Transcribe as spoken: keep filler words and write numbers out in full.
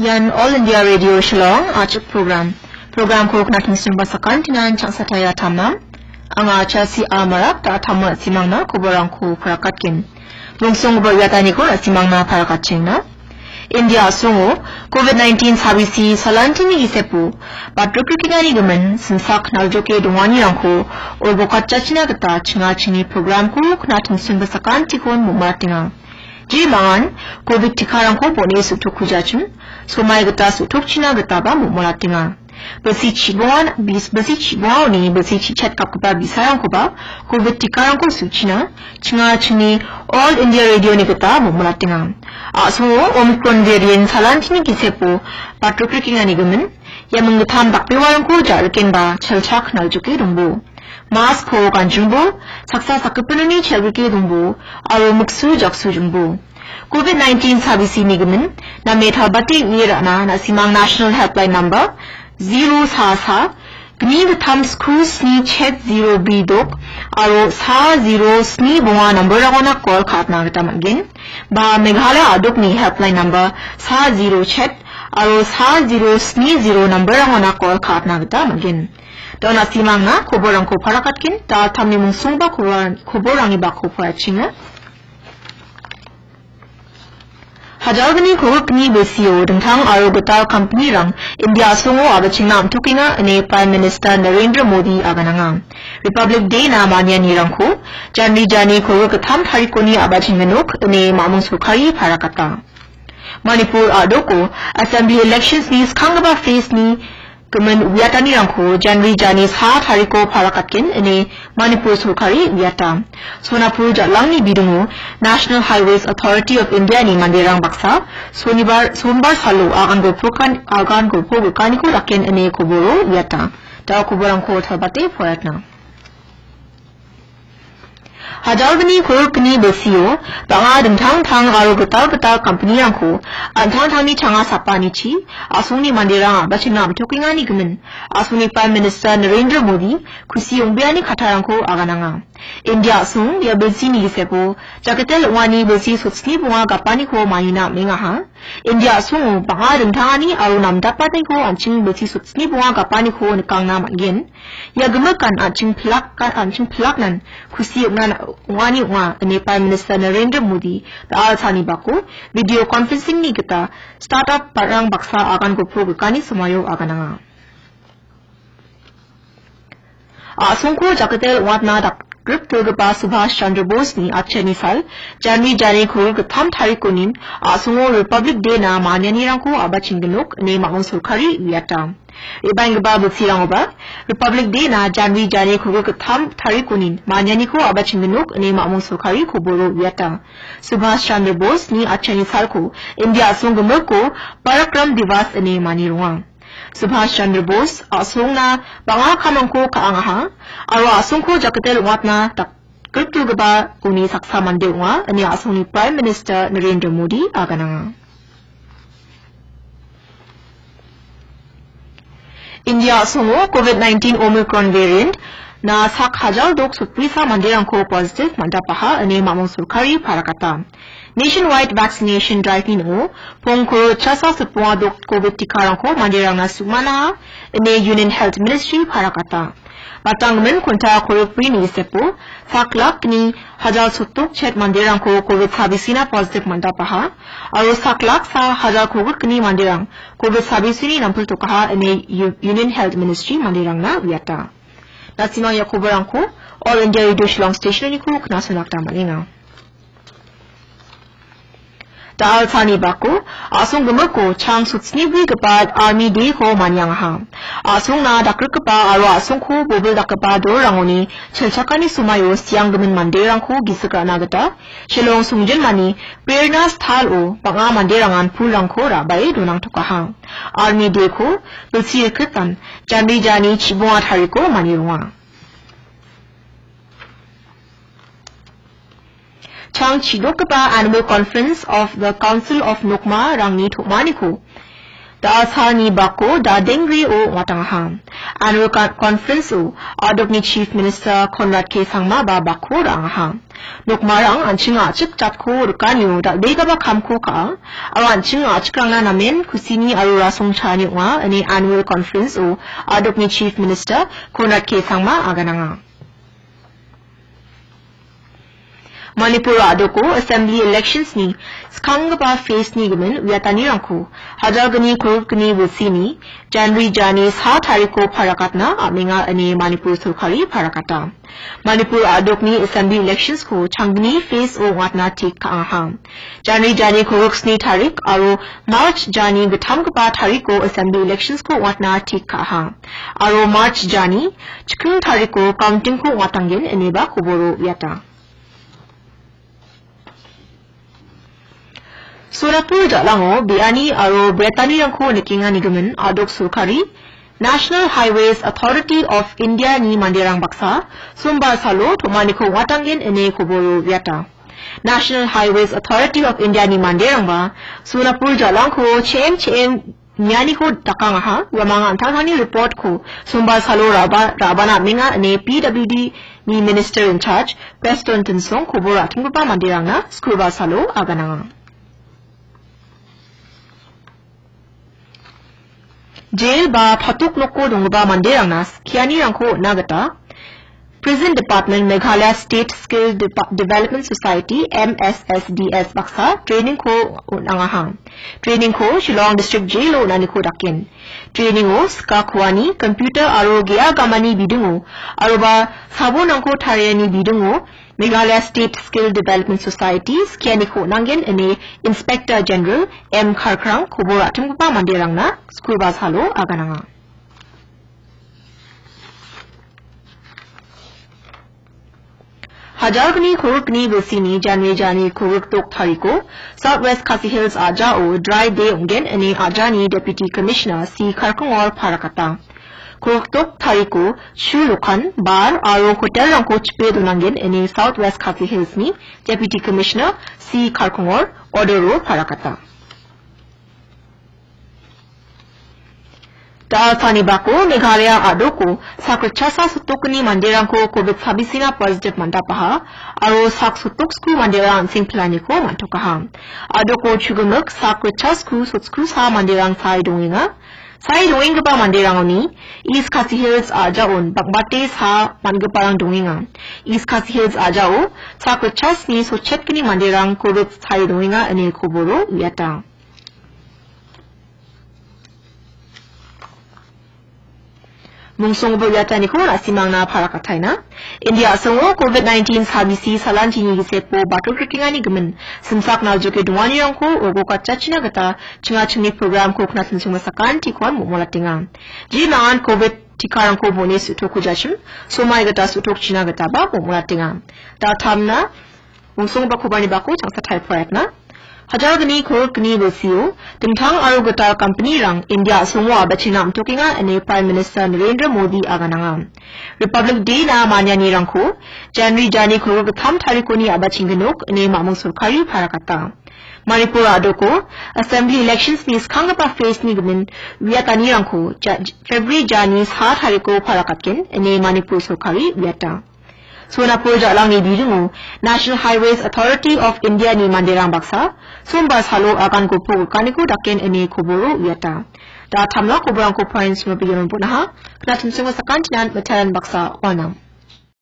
Ian All India Radio Shillong, achuk program. Programko knating sungba sakantinan changsa taya tamnam. Anga Chelsea Amarak da tamma simangna koborangko parakatgen. Bungsong ber yataniko na simangna parakatchengna. India asongo covid nineteen sabisi salantini gisepo batruk rikengani gimin simsak naljoke donganirangko olbokatjachina gita chinga chingni programko knating sungba sakantikon momatenga. Jemangan covid tikarangko bone su·tokujachim, somai gita su·tokchina gitaba momolatenga. Bisi chibongan, bis-, bisi chibongaoni bisi chichat kapgipa bisarangkoba covid tikarangko su·china, chinga chingni All India Radio-ni gita momolatenga. A·songo Omicron variant salantini gisepo batruk rikengani gimin, ia minggittam dakbewarangko ja·rikenba chelchak naljoke dongbo. Mask-ko ganjingbo, saksa sakgipinoni chelgrike dongbo, aro miksu jaksu jingbo. Covid nineteen sabisini gimin, name talbate uie ra·na, na·simang National Helpline Number, zero sa sa, gni gittam sku sni chet zero bri dok, aro sa zero sni bonga number-rangona call ka·atna gita man·gen. Ba Meghalaya a·dokni Helpline Number, sa zero chet, aro sa zero sni zero number-rangona call ka·atna gita man·gen. Dona simangna koborangko parakatgen, da tamni mungsongba kobor-, koborangni bako porachinga. Hajalgni kogikni bisio dingtang aro gital kampanirang India asongo a·bachengna am·tokenga ine Prime Minister Narendra Modi agananga. Republic Day-na manianirangko January jani kogik gittam tarikoni a·bachenggenok ine mamung sorkari parakata. Manipur a·doko Assembly Elections-ni skanggipa phase-ni gimin uiatanirangko January jani sa tariko parakatgen ine Manipur sorkari uiata. Sonapur jal·angni bidingo National Highways Authority of India-ni manderang baksa Sonibar, Sombar salo agan golpokan-, agan golpo golkaniko daken ine koboro uiata. Da koborangko talbate poratna. Hajalgni kogikni bisio bang·a dingtang dingtang aro gital gital kampanirangko an·tangtangni changa sapanichi a·songni manderang a·bachengna am·tokengani gimin a·songni Prime Minister Narendra Modi kusi ong·beani kattarangko agananga. India a·song ia bilsini gisepo jakitel ong·ani bilsi sotsni bonga gapaniko manina am·engaha. India a·songo bang·a dingtangani aro namdapaniko an·ching bilsi sotsni bonga gapaniko nikangna man·gen. Ia gimikan an·ching pilak-, an·ching pilaknan kusi ong·na, ong·ani ong·a, ine Prime Minister Narendra Modi da·alsani bako video conferencing-ni gita startup ba·rang baksa agan golpo gikani somoio agananga. A·songko jakitel ong·atna dak-, grikdilgipa Subhash Chandra Bose-ni atchani sal, January jani kogik gittam tarikonin a·songo Republic Day-na manianirangko a·bachenggenok ine mamung sorkari uiata. Re·baenggipa bilsirangoba Republic Day-na January jani kogik gittam tarikonin manianiko a·bachenggenok ine mamung sorkari koboro uiata. Subhash Chandra Bose-ni atchani salko India a·song gimiko Parakram Divas ine manironga. Subhash Chandra Bose a·songna bang·a kamrangko ka·angaha aro a·songko jakitel ong·atna dak-, grikdilgipa uni saksa mande ong·a, ine a·songni Prime Minister Narendra Modi agananga. India a·songo covid nineteen Omicron variant-na sak hajal dok sotbrisa manderangko positive man·dapaha, ine mamung sorkari parakata. Nationwide vaccination drive-ni ning·o pongkoro chasa sotbonga dok covid tikarangko manderangna su·manaha, ine Union Health Ministry parakata. Matanggimin konta korikbrini gisepo sak lak gni hajal sotdok chet manderangko covid sabisina positive man·dapaha, aro sak lak sa hajal kogik gni manderang covid sabisini nampiltokaha, ine U-, Union Health Ministry manderangna uiata. Na·simang ia koborangko All India Radio Shillong Station-oniko knasona gita man·enga. Da·alsani bako a·song gimiko chang sotsnibrigipa Army Day-ko maniangaha. A·songna dakrikgipa aro a·songko bobil dakgipa dolrangoni chelchakani somaio sianggimin manderangko gisik ra·na gita Shillong songjinmani Prerna Sthal-o bang·a manderangan pulrangko ra·bae donangtokaha. Army Day-ko bilsi rikgipan January jani chibonga tariko manironga. Chang chidokgipa Annual Conference of the Council of Nokma-rangni tom·aniko Da·alsalni bako da·dengrio ong·atangaha. Annual con-, conference-o a·dokni Chief Minister Conrad K Sangma ba bako ra·angaha. Nokmarang an·ching a·chik jatko rikanio dal·begipa kamko ka·a, aro an·ching a·chikrangna namen kusini aro rasongchaani ong·a, ine annual conference-o a·dokni Chief Minister Conrad K Sangma agananga. Manipur a·doko Assembly Elections-ni skanggipa phase-ni gimin uiatanirangko hajalgni kolgrikni bilsini January jani sa tariko parakatna am·enga ine Manipur sorkari parakata. Manipur a·dokni Assembly Elections-ko changgni phase-o ong·atna tik ka·aha. January jani kolgriksni tarik aro March jani gittamgipa tariko Assembly Elections-ko ong·atna tik ka·aha. Aro March jani chikking tariko counting-ko ong·atanggen ineba koboro uiata. Sonapur jalango be·ani aro bretanirangko nikenganigimin a·dok sorkari National Highways Authority of India-ni manderang baksa Sombar salo tom·aniko ong·atanggen ine koboro uiata. National Highways Authority of India-ni manderangba Sonapur jalangko che·em che·em nianiko dakangaha, uamang an·tangtangni report-ko Sombar salo ra·ba-, ra·bana am·enga ine P W D-ni Minister in Charge Prestone Tynsong kobor ra·tonggipa manderangna Skurbar salo agananga. Jail ba patok noko donggipa manderangna skianirangko on·na gita Prison Department Meghalaya State Skill Depa-, Development Society, M S S D S baksa training-ko on·angaha. Training-ko Shillong District Jail-o on·aniko daken. Training-o skakuani, computer aro ge·a gamani bidingo, aroba sabonrangko tariani bidingo, Meghalaya State Skill Development Society skianiko on·angen ine Inspector General M Kharkrang kobor ra·tonggipa manderangna Skurbar salo agananga. Hajalgni kolgrikni bilsini January jani kolgrik dok tariko South West Khasi Hills a·jao dry day ong·gen ine a·jani Deputy Commissioner C Kharkongor parakata. Kolgrik dok tariko chu dokan, bar aro hotel-rangko chipe donanggen ine South West Khasi Hills-ni Deputy Commissioner C Kharkongor order-o parakata. Da·alsalni bako Meghalaya a·doko sak ritchasa sotokgni manderangko covid sabisina positive man·dapaha aro sak sotoksku manderang an·seng pilaniko man·tokaha. A·doko chugimik sak ritchasku sotskusa manderang sae dongenga. Sae dongenggipa manderangoni East Khasi Hills a·jaon bang·bate sa man·giparang dongenga. East Khasi Hills a·jao sak ritchasni sotchetgni manderang covid sae dongenga ine koboro uiata. Mungsonggipa uiataniko na·simangna parakataina. India a·songo covid nineteen sabisi salantini gisepo batrokrikenganigimin simsak naljoke donganirangko uargokatjachina gita chingachingni programko knatensongna sakantikon momolatenga. Jemangan covid tikarangko bone su·tokujachim somai gita su·tokchina gitaba momolatenga. Daltamna Mungsonggipa kobarni bako changsa tariporaiatna. Hajalgni kolgrikni bilsio dingtang aro gital company-rang India a·songo a·bachengna am·tokenga ine Prime Minister Narendra Modi agananga. Republic Day-na manianirangko January jani kolgrik gittam tarikoni a·bachengginok ine mamung sorkari parakata. Manipur a·doko Assembly Elections-ni skanggipa phase-ni gimin uiatanirangko ja-, February jani sa tariko parakatgen ine Manipur sorkari uiata. Sonapur ja·langni bidingo National Highways Authority of India-ni manderang baksa Sombar salo agan gopok rikaniko daken ine koboro uiata. Da·altamna koborangko porainchimo bianon bon·aha. Knatensongo sakantinan mitaran baksa uanang.